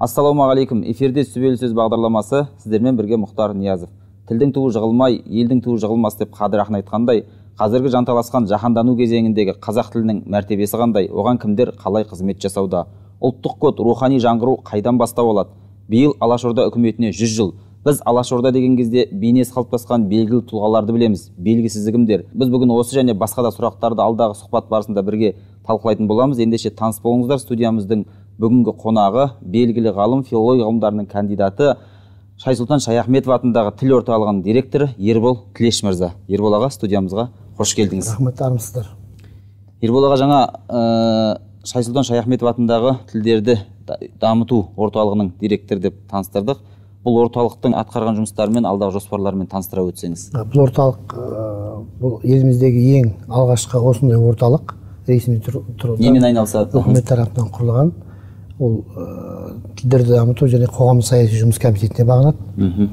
Ассалаумағалейкум, эфирде Сүбелі сөз бағдарламасы, сіздермен бірге Мұхтар Ниязов. Тілдің туы жығылмай, елдің туы жығылмас деп Қадыр ақын айтқандай, қазіргі жанталасқан жаһандану кезеңіндегі қазақ тілінің мәртебесі қандай, оған кімдер қалай қызмет жасауда? Ұлттық код, рухани жаңғыру қайдан бастау алады? Биыл Алашорда үкіметіне 100 жыл. Біз Алашорда деген кезде бейнесі қалыптасқан белгілі тұлғаларды білеміз, белгісізі кімдер. Біз бүгін осы және басқа да сұрақтарды алдағы сұхбат барысында бірге талқылайтын боламыз. Ендеше таныс болыңыздар. Студиямыздың бүгінгі қонағы белгілі ғалым, филология ғылымдарының кандидаты, Шайсұлтан Шаяхметов атындағы тіл орталығының директоры Ербол Тілеш мырза. Ербол аға, студиямызға қош келдіңіз. Рахмет, армысыздар. Ербол аға, жаңа Шайсұлтан Шаяхметов атындағы тілдерді дамыту орталығының директоры деп таныстырдық. Бұл орталықтың атқарған жұмыстарымен, алдағы жоспарларымен таныстыра өтсеңіз. Бұл орталық бұл еліміздегі ең алғашқы осындай орталық, ресми тұрғыда немен айналысады? Үкімет тарапынан құрылған. Ол тілдерді дамыту және қоғамдық саяси жұмыс комитетіне бағынады.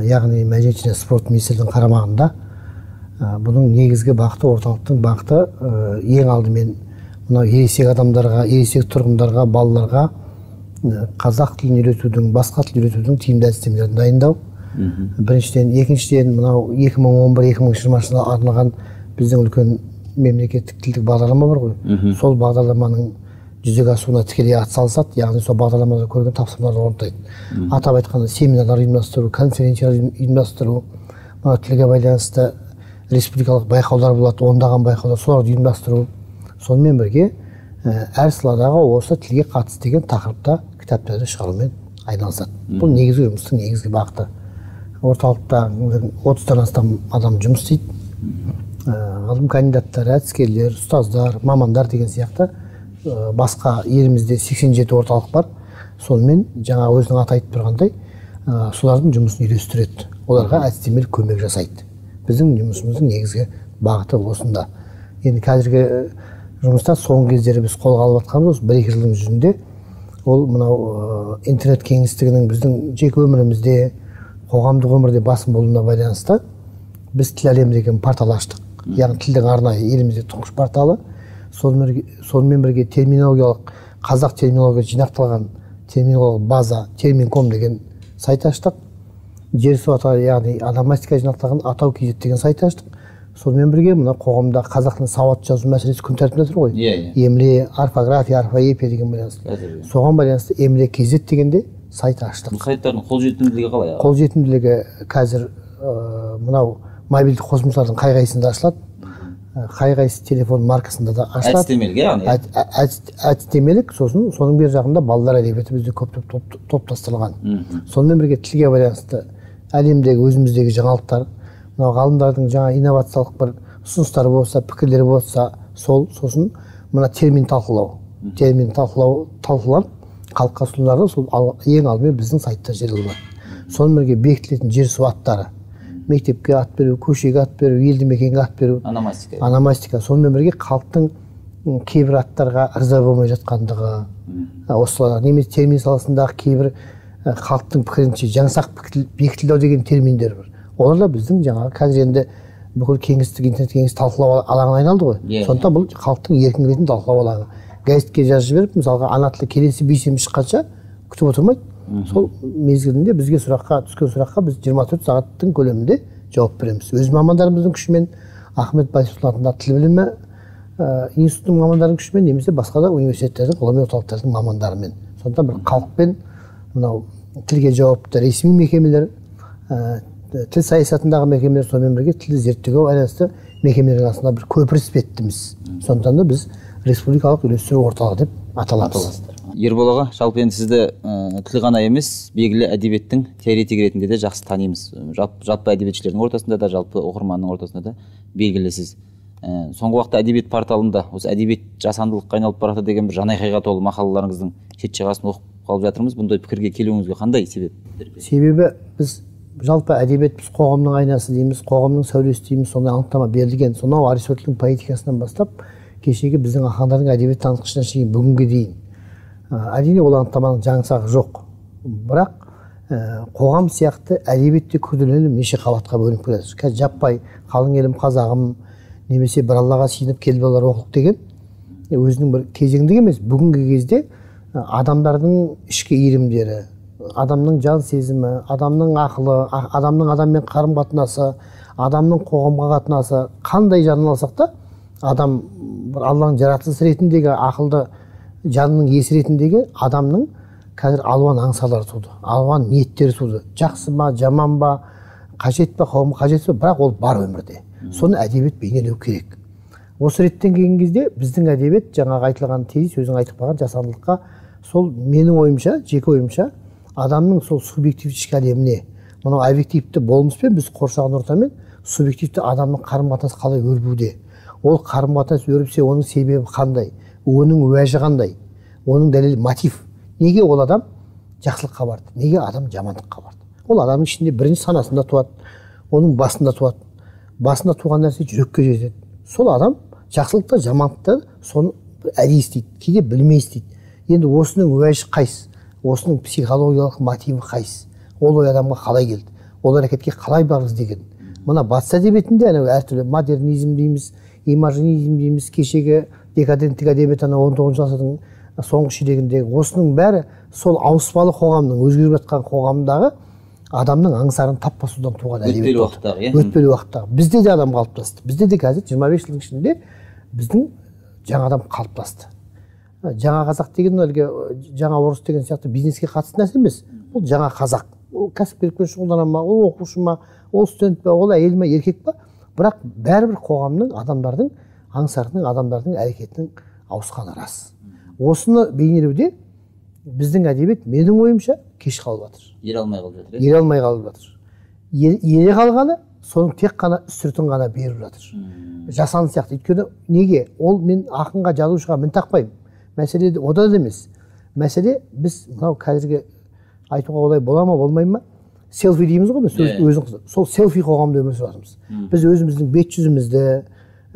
Яғни мәдениет және спорт министрлігінің қарамағында. Бұның негізгі бағыты, орталықтың бағыты ең алдымен мынау ересек адамдарға, ересек тұрғындарға, балаларға қазақ тілін үйретудің, басқа тіл үйретудің тиімді әдістемелерін дайындау. Біріншіден, екіншіден мынау 2011-2020 жылға арналған біздің үлкен мемлекеттік тілдік бағдарлама бар ғой. Сол бағдарламаның жүзеге асуына тікелей атсалысады, яғни сол бағдарламада көрген тапсырмаларды орындайды. Атап айтқанда семинарлар ұйымдастыру, конференциялар ұйымдастыру, тілге байланысты республикалық байқаулар болады, ондаған байқаулар, соларды ұйымдастыру. Сонымен бірге әр саладағы осы тілге қатысты деген тақырыпта кітаптарды шығарумен айналысады. Бұл негізгі жұмыстың негізгі бағыты. Орталықта 30-тан астам адам жұмыс істейді. Ғылым кандидаттары, әдіскерлер, ұстаздар, мамандар деген сияқты басқа елімізде 87 орталық бар. Сонымен жаңа өзінің аты айтып тұрғандай, солардың жұмысын үйлестіреді. Оларға әдістемелік көмек жасайды. Біздің жұмысымыздың негізгі бағыты осында. Енді қазіргі жұмыста соңғы кездері біз қолға алып жатқанымыз 1-2 жылдың жүзінде ол мынау интернет кеңістігінің біздің жеке өмірімізде, қоғамдық өмірде басым болуына байланысты біз тіл әлемі деген портал аштық. Яғни тілдің арнайы елімізде тұңғыш порталы. Сонымен бірге терминологиялық, қазақ терминология жинақталған терминологиялық база термин.com деген сайт аштық. Жерсу атауы, яғни ономастика жинақталған атау kz деген сайт аштық. Сонымен бірге мына қоғамда қазақтың сауатты жазу мәселесі күн тәртібінде тұр ғой. Емле, орфография, орфоэпия деген байланысты. Соған байланысты емле kz дегенде сайт аштық. Бұл сайттардың қолжетімділігі қалай? Қолжетімділігі қазір мынау мобильді қосымшалардың қай-қайсында ашылады. Қай-қайсы телефон маркасында да ашылады. Әдістемелік, яғни? Әдістемелік, сосын соның бер жағында балалар әдебиеті бізде көп топтастырылған. Сонымен бірге тілге байланысты әлемдегі өзіміздегі жаңалықтар, ғалымдардың жаңа инновациялық бір ұсыныстары болса, пікірлері болса, сосын мына термин талқылау. Термин талқыланып, халыққа ұсынылады, сол ең алдымен біздің сайтта жарияланады. Сонымен бірге бекітілетін жер су аттары. Мектепке ат беру, көшеге ат беру, елді мекенге ат беру. Ономастика. Сонымен бірге халықтың кейбір аттарға ырза болмай жатқандығы. Осылар немесе термин саласындағы кейбір халықтың пікірінше жаңсақ бекітілу деген терминдер бар. Олар да біздің жаңағы қазір енді бүкіл кеңістік, интернет кеңістік талқылау алаңына айналды ғой. Сондықтан бұл халықтың еркін келетін талқылау алаңы. Газетке жазып жіберіп, мысалға ана тілі келесі бейсенбі шыққанша күтіп отырмайды. Сол мезгілінде бізге түскен сұраққа біз 24 сағаттың көлемінде жауап береміз. Өз мамандарымыздың күшімен, Ахмет Байтұрсын атындағы тіл білімі институтының мамандарының күшімен, немесе басқа да университеттердің, ғылыми орталықтардың мамандарымен. Сондықтан бір халықпен мынау тілге жауапты ресми мекемелер, тіл саясатындағы мекемелер, сонымен бірге тілді зерттеуге байланысты мекемелердің арасында бір көпір іспеттіміз. Сондықтан да біз республикалық үйлестіру орталығы деп аталамыз. Ербол аға, жалпы енді сізді тіл ғана емес, белгілі әдебиеттің теоретигі ретінде де жақсы танимыз. Жалпы әдебиетшілердің ортасында да, жалпы оқырманның ортасында да белгілісіз. Соңғы уақытта әдебиет порталында осы әдебиет жасандылыққа айналып барады деген бір жанайқайға толы мақалаларыңыздың шет жағасын оқып қалып жатырмыз. Бұндай пікірге келуіңізге қандай себеп? Себебі біз жалпы әдебиет біз қоғамның айнасы дейміз, қоғамның сәулесі дейміз, сондай анықтама берілген. Сонау Аристотельдің поэтикасынан бастап кешегі біздің ақындардың әдебиет танытқышына шейін бүгінге дейін. Әрине ол анықтаманың жаңсағы жоқ. Бірақ қоғам сияқты әдебиетте күрделеніп неше қабатқа бөлініп келеді. Қазір жаппай қалың елім қазағым немесе бір аллаға сиынып келіп олар оқылық деген өзінің бір кезеңдік емес, бүгінгі кезде адамдардың ішкі иірімдері, адамның жан сезімі, адамның ақылы, адамның адаммен қарым қатынасы, адамның қоғамға қатынасы қандай жағынан алсақ та, адам бір Алланың жаратылысы ретіндегі ақылды жанның иесі ретіндегі адамның қазір алуан аңсалары туды, алуан ниеттері туды. Жақсы ма, жаман ба, қажет па, қауым қажет па, бірақ ол бар өмірде. Соны әдебиет бейнелеу керек. Осы реттен келген кезде біздің әдебиет жаңағы айтылған тезис, өзің айтып қалған жасандылыққа, сол менің ойымша, жеке ойымша, адамның сол субъективті ішкі әлеміне, мынау объективті болмыспен біз қоршаған ортамен субъективті адамның қарым-қатынасы қалай өрбуде, ол қарым-қатынас өрбісе оның себебі қандай, оның уәжі қандай, оның дәлелі мотив, неге ол адам жақсылыққа барды, неге адам жамандыққа барды. Ол адамның ішінде бірінші санасында туады, оның басында туады. Басында туған нәрсе жүрекке жетеді. Сол адам жақсылықта, жамандықта соны әдейі істейді, кейде білмей істейді. Енді осының уәжі қайсы, осының психологиялық мотиві қайсы, ол ой адамға қалай келді, ол әрекетке қалай барғыз деген. Мына батыс әдебиетінде әртүрлі модернизм дейміз, имажинизм дейміз, кешегі декаденттік әдебиет 19 ғасырдың соңғы ширегіндегі осының бәрі сол ауыспалы қоғамның, өзгеріп жатқан қоғамдағы адамның аңсарын тап басудан туған әдебиет болды. Өтпелі уақыттағы. Бізде де адам қалыптасты. Бізде де қазір 25 жылдың ішінде біздің жаңа адам қалыптасты. Жаңа қазақ деген әлгі жаңа орыс деген сияқты бизнеске қатысты нәрсе емес. Ол жаңа қазақ. Ол кәсіпкерлікпен шұғылдана ма, ол оқушы ма, ол студент па, ол әйел ма, еркек па, бірақ бәрібір қоғамның, адамдардың аңсарының, адамдардың әрекетінің ауысқаны рас. Осыны бейнелеуде біздің әдебиет менің ойымша кеш қалып жатыр. Ере алмай қалып жатыр. Ере алмай қалып жатыр. Ере қалғаны соның тек қана үстіртін ғана беріп жатыр. Жасанды сияқты. Өйткені неге? Ол мен ақынға, жазушыға мін тақпаймын. Мәселе ода да емес. Мәселе біз мынау қазіргі айтуға олай бола ма, болмай ма? Селфи дейміз ғой, өзің сол селфи қоғамда өмір сүріп жатырмыз. Біз өзіміздің бет жүзімізді,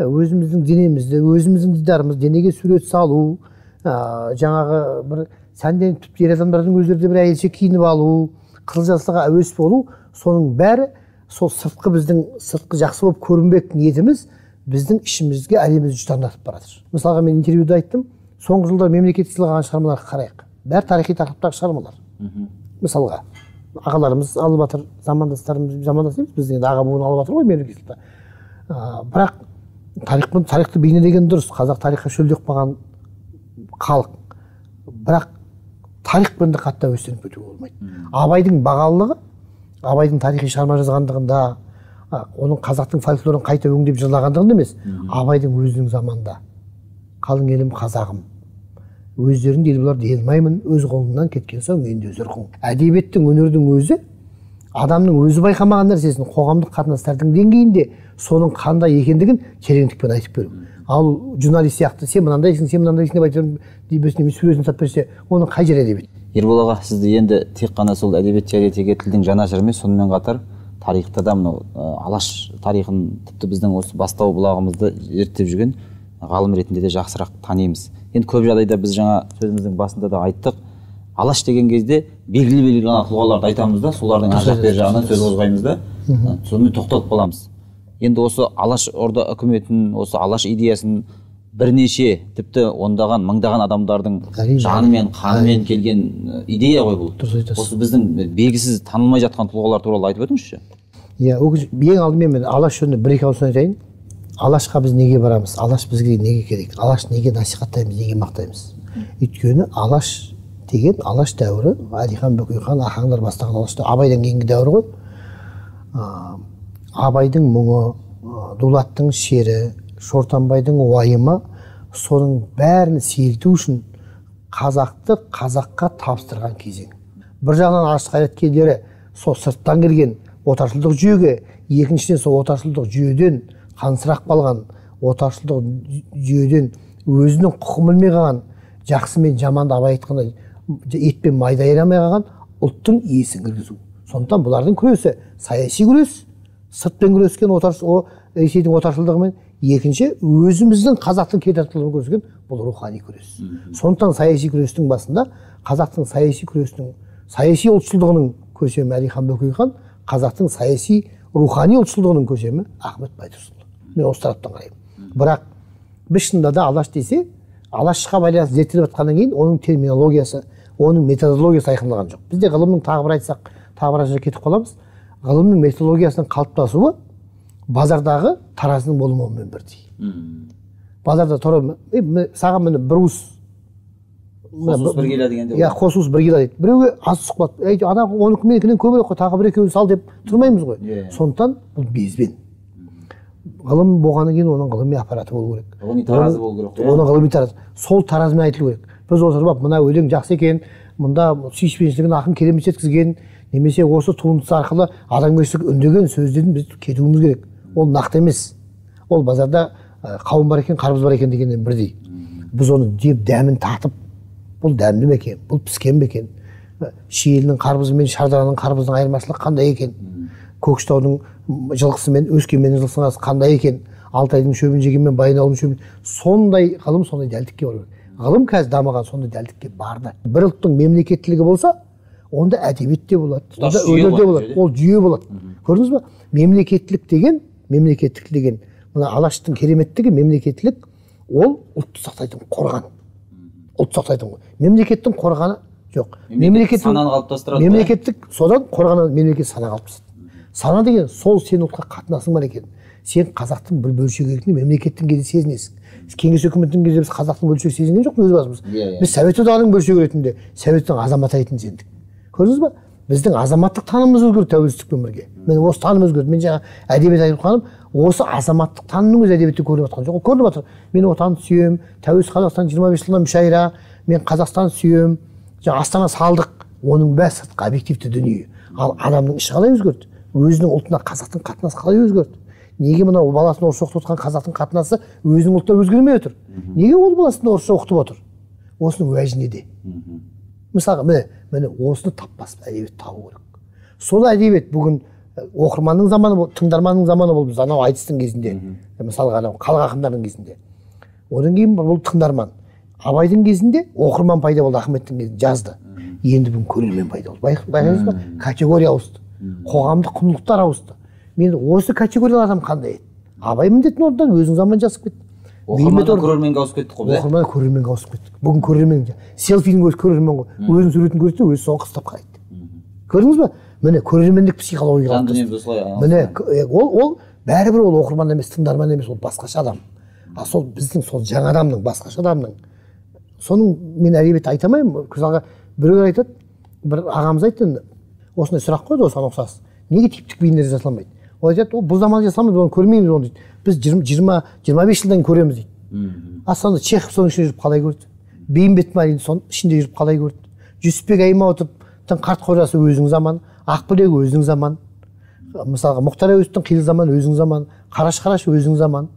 өзіміздің денемізді, өзіміздің дидарымызды денеге сурет салу, жаңағы бір сәнденіп тіпті ер адамдардың өздері бір әйелше киініп алу, қызыл жасылға әуес болу, соның бәрі сол сыртқы біздің сыртқы жақсы болып көрінбек ниетіміз біздің ішімізге әлемімізді жұтаңдатып баратыр. Мысалға мен интервьюда айттым, соңғы жылда мемлекеттік сыйлаған шығармаларға қарайық. Бәрі тарихи тақырыптағы шығармалар. Мысалға ағаларымыз алып жатыр, замандастарымыз, замандас емес, біздің енді аға буын алып жатыр ғой мемлекеттік. Бірақ тарихты бейнелеген дұрыс. Қазақ тарихқа шөлдеп қалған халық. Бірақ тарихпен де қатты әуестеніп кетуге болмайды. Абайдың бағалылығы, Абайдың тарихи шығарма жазғандығында, оның қазақтың фольклорын қайта өңдеп жырлағандығында емес, Абайдың өзінің заманда қалың елім қазағым, өздерің ел бұлар делмаймын, өз қолыңнан кеткен соң енді өз ырқың. Әдебиеттің, өнердің өзі адамның өзі байқамаған нәрсесін қоғамдық қатынастардың деңгейінде соның қандай екендігін тереңдікпен айтып беру. Ал журналист сияқты сен мынандайсың, сен мынандайсың деп айтып жүріп суретін тап берсе, оның қай жер әдебиет? Ербол аға, сізді енді тек қана сол әдебиет теоретигі тілдің жанашыры емес, сонымен қатар тарихта да мынау алаш тарихын тіпті біздің осы бастау бұлағымызды зерттеп жүрген ғалым ретінде де жақсырақ танимыз. Енді көп жағдайда біз жаңа сөзіміздің басында да айттық, алаш деген кезде белгілі тұлғаларды айтамыз да, солардың ар жақ бер жағынан сөз қозғаймыз да, сонымен тоқталып қаламыз. Енді осы алаш орда үкіметін, осы алаш идеясын бірнеше, тіпті ондаған, мыңдаған адамдардың жанымен, қанымен келген идея ғой бұл. Осы біздің белгісіз танылмай жатқан тұлғалар туралы айтып өтіңізші. Иә, ең алдымен мен алаш жөнінде бір-екі ауыз айтайын. Алашқа біз неге барамыз? Алаш бізге неге керек? Алаш неге насихаттаймыз, неге мақтаймыз? Өйткені алаш деген алаш дәуірі, Әлихан Бөкейхан, ахаңдар бастаған алаш дәуірі, Абайдан кейінгі дәуір ғой. Абайдың мұңы, Дулаттың шері, Шортанбайдың уайымы, соның бәрін сейілту үшін қазақты қазаққа тапсырған кезең. Бір жағынан алаш қайраткерлері сол сырттан келген отаршылдық жүйеге, екіншіден сол отаршылдық жүйеден қансырақ қалған, отаршылдық жүйеден өзінің құқын білмей қалған, жақсы мен жаманды Абай айтқандай ет пен майды айырамай қалған ұлттың иесін кіргізу. Сондықтан бұлардың күресі саяси күрес, сыртпен күрескен Ресейдің отаршылдығымен, екінші өзіміздің қазақтың кетартылығын көрсеткен бұл рухани күрес. Сондықтан саяси күрестің басында қазақтың саяси күресінің, саяси ұлтшылдығының көсемі Әлихан Бөкейхан, қазақтың саяси рухани ұлтшылдығының көсемі Ахмет Байтұрсынұлы. Мен осы тараптан қараймын. Бірақ біз шынында да алаш десе, алашқа байланысты зерттеліп жатқаннан кейін оның терминологиясы, оның методологиясы айқындалған жоқ. Бізде ғылымның тағы бір айтсақ, тағы бір кетіп қаламыз. Ғылымның методологиясының қалыптасуы базардағы таразының болмауымен бірдей. Базарда саған міне бір уыс қос уыс бір келі дегенде. Иә, қос уыс бір келі дейді. Біреуге аз сұхбат, ана оныкі менікінен көбірек қой, тағы бір екеуін сал деп тұрмаймыз ғой. Сондықтан бұл безбен. Ғылым болғаннан кейін оның ғылыми аппараты болу керек. Ғылыми таразы болу керек. Оның ғылыми таразы. Сол таразымен айтылу керек. Біз отырып, мына өлең жақсы екен, мұнда сүйіспеншілігін ақын керемет жеткізген, немесе осы туындысы арқылы адамгершілік үндеген сөздерін біз кетуіміз керек. Ол нақты емес. Ол базарда қауын бар екен, қарбыз бар екен дегеннен бірдей. Біз оны жеп дәмін татып, бұл дәмді ме екен, бұл піскен бе екен, Шиелінің қарбызы мен Шардараның қарбызының айырмашылығы қандай екен, Көкшетаудың жылқысы мен Өскеменнің жылқысының арасы қандай екен, Алтайдың шөбін жеген мен Баянауылдың шөбін, сондай ғылым сондай дәлдікке бару керек. Ғылым қазір дамыған сондай дәлдікке барды. Бір ұлттың мемлекеттілігі болса, онда әдебиет те болады, онда өнер де болады, ол жүйе болады. Көрдіңіз ба? Мемлекеттік деген, мына Алаштың кереметтігі мемлекеттілік, ол ұлтты сақтайтын қорған. Ұлт сақтайтын ғой. Мемлекеттің қорғаны жоқ. Сананы қалыптастырады. Мемлекеттік содан қорғаны мемлекет сана қалыптасады. Сана деген сол сен ұлтқа қатынасың бар екен. Сен қазақтың бір бөлшегі ретінде мемлекеттің кезде сезінесің. Кеңес үкіметінің кезде біз қазақтың бөлшегі сезінген жоқпыз өз басымыз. Біз Совет одағының бөлшегі ретінде Советтің азаматы ретінде сендік. Көрдіңіз ба? Біздің азаматтық танымымыз өзгерді тәуелсіздікпен бірге. Мен осы таным өзгерді. Мен жаңа әдебиет айтып қалғаным, осы азаматтық танымның өзі әдебиетте көрініп жатқан жоқ. Көрініп жатыр. Мен отанды сүйем, тәуелсіз Қазақстан 25 жылдан мүшайра, мен Қазақстан сүйем, жаңа Астана салдық. Оның бәрі сыртқы объективті дүние. Ал адамның іші қалай өзгерді? Өзінің ұлтына қазақтың қатынасы қалай өзгерді? Неге мына баласын орысша оқытып отқан қазақтың қатынасы өзінің ұлтына өзгермей отыр? Неге ол баласын орысша оқытып отыр? Осының уәжі неде? Мысалға, міне осыны таппас әдебиет табу керек. Сол әдебиет бүгін оқырманның заманы, тыңдарманның заманы болды. Біз анау айтыстың кезінде, мысалға анау халық ақындардың кезінде. Одан кейін бұл тыңдарман. Абайдың кезінде оқырман пайда болды, Ахметтің кезінде жазды. Енді бүгін көрермен пайда болды. Байқайсыз ба? Категория ауысты. Қоғамдық құндылықтар ауысты. Мен осы категориялар адам қандай еді? Абай міндетін орындан өзінің заман жасып кетті. Оқырманнан көрерменге ауысып кеттік қой. Оқырманнан көрерменге ауысып кеттік. Бүгін көрермен селфидің өзі көрермен ғой. Өзінің суретін көреді, өзі соны қыстап қарайды. Көрдіңіз ба? Міне көрермендік психология қалыптасты. Міне ол бәрібір ол оқырман емес, тыңдарман емес, ол басқаша адам. А сол біздің сол жаңа адамның, басқаша адамның. Соның мен әдебиетті айта алмаймын. Мысалға біреулер айтады, бір ағамыз айтты, осындай сұрақ қойды осыған ұқсас. Неге типтік бейнелер жасалмайды? Ол айтады, бұл заманда жасалмайды, оны көрмейміз оны дейді. Біз 20-25 жылдан көреміз дейді. Сонда Чехов соның ішінде жүріп қалай көрді? Бейімбет Майлин соның ішінде жүріп қалай көрді? Жүсіпбек Аймауытовтың қарт қожасы өзінің заманы, Ақбілек өзінің заманы. Мысалға Мұхтар Әуезовтің қилы заманы өзінің заманы, Қараш өзінің заманы,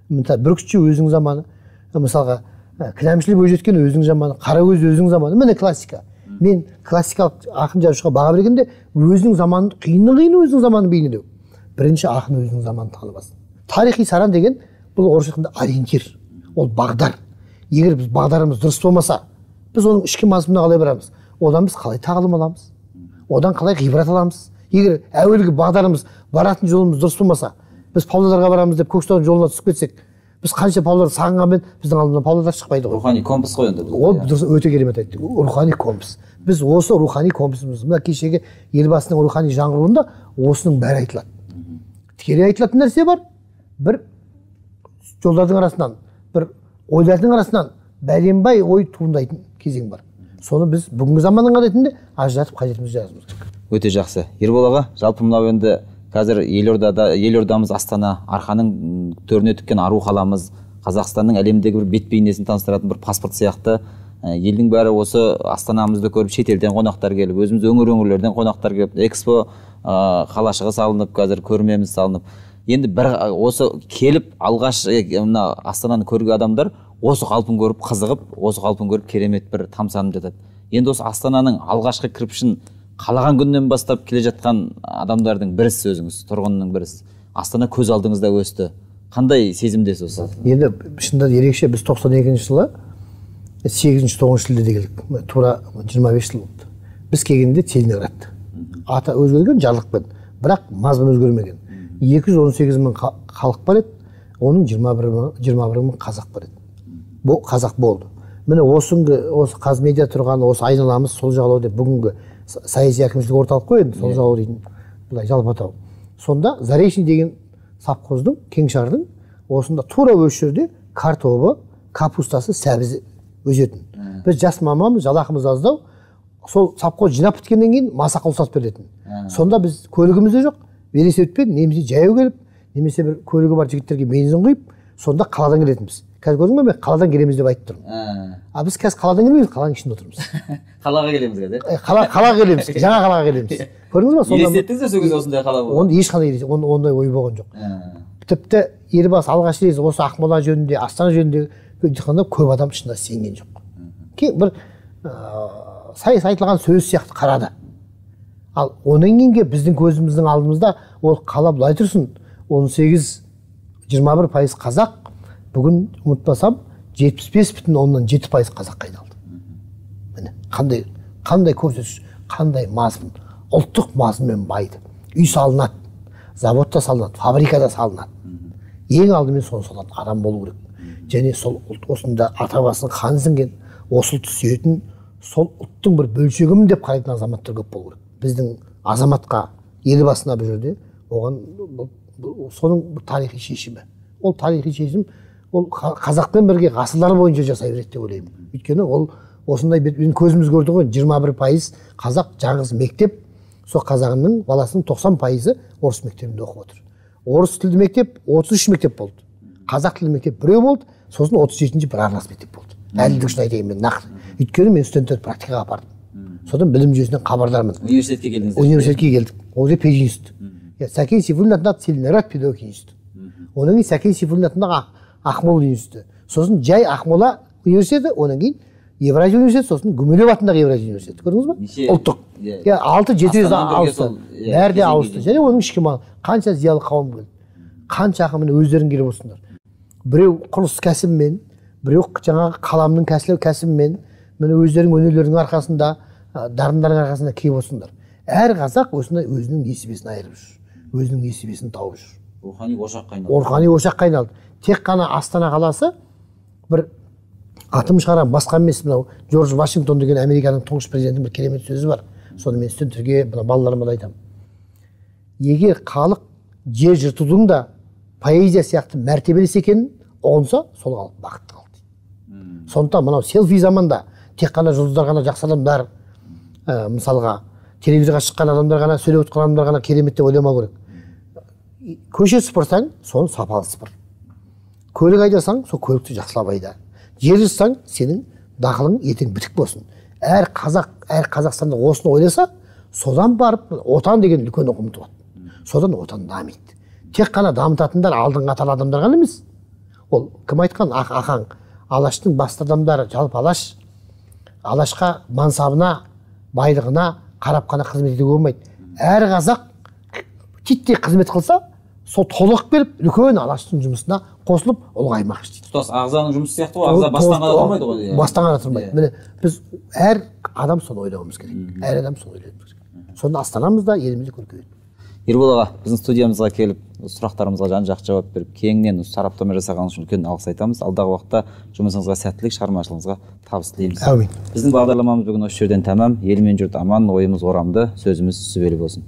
Бүркітші өзінің заманы. Мысалға Кінәмшілі Бойжеткен өзінің заманы, Қарагөз өзінің заманы. Міне классика. Мен классикалық ақын жазушыға баға бергенде өзінің заманын, қиыны өзінің заманын бейнелеу. Бірінші ақын өзінің заманын танымасын. Тарихи саран деген бұл орысша айтқанда ориентир, ол бағдар. Егер біз бағдарымыз дұрыс болмаса, біз оның ішкі мазмұнына қалай барамыз? Одан біз қалай тағылым аламыз? Одан қалай ғибрат аламыз? Егер әуелгі бағдарымыз, баратын жолымыз дұрыс болмаса, біз Павлодарға барамыз деп Көкшетаудың жолына түсіп кетсек, біз қанша Павлодар сағынғанмен біздің алдымыздан Павлодар шықпайды ғой. Рухани компас қой енді. Ол дұрыс, өте керемет айтты. Рухани компас. Біз осы рухани компасымыз, мына кешегі елбасының рухани жаңғыруында осының бәрі айтылады. Тікелей айтылатын нәрсе бар. Бір жолдардың арасынан, бір ойлардың арасынан бәленбай ой туындайтын кезең бар. Соны біз бүгінгі заманның ретінде ажыратып қажетімізді жазуымыз керек. Өте жақсы. Ербол аға, жалпы мынау енді қазір елордамыз Астана, арқаның төріне тіккен ару қаламыз, Қазақстанның әлемдегі бір бет бейнесін таныстыратын бір паспорт сияқты. Елдің бәрі осы Астанамызды көріп, шетелден қонақтар келіп, өзіміз өңірлерден қонақтар келіп, экспо қалашығы салынып, қазір көрмеміз салынып. Енді бір осы келіп алғаш мына Астананы көрген адамдар осы қалпын көріп қызығып, осы қалпын көріп керемет бір тамсанып жатады. Енді осы Астананың алғашқы кірпішін қалаған күннен бастап келе жатқан адамдардың бірісіз өзіңіз, тұрғынның бірісіз. Астана көз алдыңызда өсті. Қандай сезімдесіз осы? Енді шынында ерекше, біз 92 жылы 8-9 шілдеде келдік. Тура 25 жыл болды. Біз келгенде Целиноград. Аты өзгерген жарлықпен, бірақ мазмұны өзгермеген. 218 мың халық бар еді, оның 21 мың қазақ бар еді. қазақ болды. Міне осы Қазмедиа тұрған осы айналамыз сол жағалау деп бүгінгі саяси әкімшілік орталық қой енді сол жағалау дейтін былай жалпы атау. Сонда Заречный деген совхоздың Кеңшардың осында тура осы жерде картобы, капустасы, сәбізі өсетін. Біз жас мамамыз, жалақымыз аздау, сол совхоз жинап біткеннен кейін масаққа ұстатып беретін. Сонда біз көлігіміз де жоқ, велосипедпен немесе жаяу келіп, немесе бір көлігі бар жігіттерге бензин құйып, сонда қаладан келетінбіз. Қазір көрдің бе, мен қаладан келеміз деп айтып тұрмын. А біз қазір қаладан келмейміз, қаланың ішінде отырмыз. Қалаға келеміз қазір. Қалаға келеміз, жаңа қалаға келеміз. Көрдіңіз ба? Елестеттіңіз бе сол кезде осындай қала болды? Оны ешқандай ондай ой болған жоқ. Тіпті елбасы алғаш рет осы Ақмола жөнінде, Астана жөнінде айтқанда көп адам шынында сенген жоқ. Бір сайыс айтылған сөз сияқты қарады. Ал онан кейінгі біздің көзіміздің алдымызда ол қала былай тұрсын, 18-21% қазақ, бүгін ұмытпасам 75,7% қазаққа айналды. Міне қандай көрсеткіш, қандай мазмұн, ұлттық мазмұнмен байды. Үй салынады, заводта салынады, фабрикада салынады. Ең алдымен соны салады, адам болу керек. Және сол ұлт осында ата басының қаны сіңген, осы ұлтты сүйетін, сол ұлттың бір бөлшегімін деп қарайтын азаматтар көп болу керек. Біздің азаматқа, елбасына бұл жерде оған соның тарихи шешімі. Ол тарихи шешім ол қазақпен бірге ғасырлар бойынша жасай береді деп ойлаймын. Өйткені ол осындай біздің көзіміз көрді ғой, 21% қазақ жаңғыз мектеп, сол қазағының баласының 90% орыс мектебінде оқып отыр. Орыс тілді мектеп 33 мектеп болды. Қазақ тілді мектеп біреу болды, сосын 37-ші бір арнас мектеп болды. Әлілдік үшін айтайын мен нақты. Өйткені мен студенттерді практикаға апардым. Содан білім жүйесінен хабардармын. Университетке келдіңіз. Университетке келдік. Ол же пединститут. Сәкен Сейфуллин атындағы Целиноград педагогика институты. Одан кейін Сәкен Сейфуллин атындағы Ақмола институты. Сосын жай Ақмола университеті, одан кейін Евразия университеті, сосын Гумилев атындағы Евразия университеті. Көрдіңіз ба? Ұлттық. 6-7 ауысты. Бәрі де ауысты. Және оның ішкі қанша зиялы қауым келді. Қанша ақын өздерің келіп отырсыңдар. Біреу құрылыс кәсібімен, біреу жаңағы қаламның кәсібімен, міне өздерінің өнерлерінің арқасында, дарындарының арқасында келіп отырсыңдар. Әр қазақ осындай өзінің несібесін айырып жүр. Өзінің несібесін тауып жүр. Рухани ошаққа айналды. Рухани ошаққа айналды. Тек қана Астана қаласы бір атым шығарам, басқа емес, мынау Джордж Вашингтон деген Американың тұңғыш президентінің бір керемет сөзі бар. Соны мен студенттерге, балаларыма да айтамын. Егер халық жер жыртудың да поэзия сияқты мәртебелес екенін ұғынса, сол халық бақытты қалды. Сондықтан мынау селфи заманда тек қана жұлдыздар ғана жақсы адамдар, мысалға телевизорға шыққан адамдар ғана, сөйлеп отырған адамдар ғана керемет деп ойламау керек. Көше сыпырсаң, соны сапалы сыпыр. Көлік айдасаң, сол көлікті жақсылап айда. Жер жыртсаң, сенің дақылың ертең бітік болсын. Әр Қазақстанда осыны ойласа, содан барып отан деген үлкен ұғым туады. Содан отан дамиды. Тек қана дамытатындар алдыңғы қатарлы адамдар ғана емес. Ол кім айтқан? Ахаң. Алаштың басты адамдары, жалпы Алашқа мансабына, байлығына қарап қана қызмет етуге болмайды. Әр қазақ титтей қызмет қылса, сол толық беріп, үлкен Алаштың жұмысына қосылып, ұлғаймақ істейді. Тұтас ағзаның жұмысы сияқты ғой, ағза бастан ғана тұрмайды ғой. Бастан ғана тұрмайды. Міне біз әр адам соны ойлауымыз керек. Әр адам соны ойлауымыз керек. Сонда астанамызда, елімізде көркейеді. Ербол аға, біздің студиямызға келіп, сұрақтарымызға жан-жақты жауап беріп, кеңінен сараптама жасағаныңыз үшін үлкен алғыс айтамыз. Алдағы уақытта жұмысыңызға сәттілік, шығармашылығыңызға табыс тілейміз. Әумин. Біздің бағдарламамыз бүгін осы жерден тәмам. Ел мен жұрт аман, ойымыз орамды, сөзіміз сүбелі болсын.